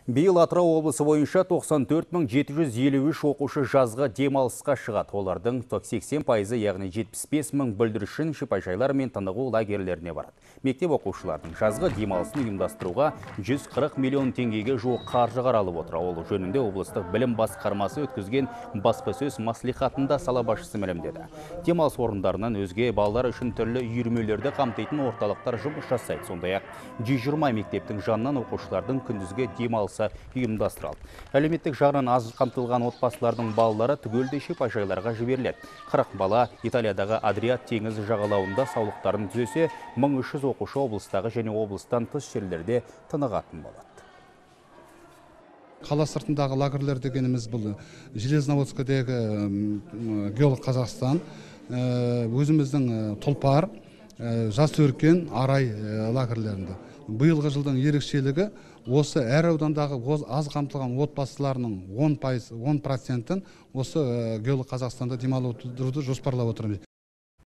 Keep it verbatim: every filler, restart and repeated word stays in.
Биыл Атырау облысы бойынша тоқсан төрт мың жеті жүз елу үш оқушы жазғы демалысқа шығады. Олардың сексен пайызы, яғни жетпіс бес мың бүлдіршін шипажайлар мен тынығу лагерлеріне барады. Мектеп оқушылардың жазғы демалысын ұйымдастыруға жүз қырық миллион теңгеге жуық қаржы қаралып отыр. Ол жөнінде облыстық білім басқармасы өткізген баспасөз маслихатында сала басшысы мәлімдеді. Демалыс орындарынан өзге балалар үшін түрлі үйірмелерді қамтитын орталықтар жұмыс жасайды. Сондай-ақ жүз жиырма мектептің жанынан оқушылардың күндізгі демалыс ұйымдастырылды. Әлеуметтік жағынан аз қамтылған отбасылардың балалары түгелдей шипажайларға жіберіледі. қырық бала Италиядағы Адриат теңізі жағалауында саулықтарын түзесе, мың үш жүз оқушы облыстағы және облыстан тыс жерлерде тынығатын болады. Қала сыртындағы лагерлер дегеніміз бұл Железноводскідегі Геолог Қазақстан, өзіміздің Тұлпар, Жас өркен, Арай лагерлерінде. Биылғы жылдың ерекшелігі осы әр аудандағы аз қамтылған отбасыларының он процентін осы Геолог Қазақстанда демалдыруды жоспарлап отырмыз.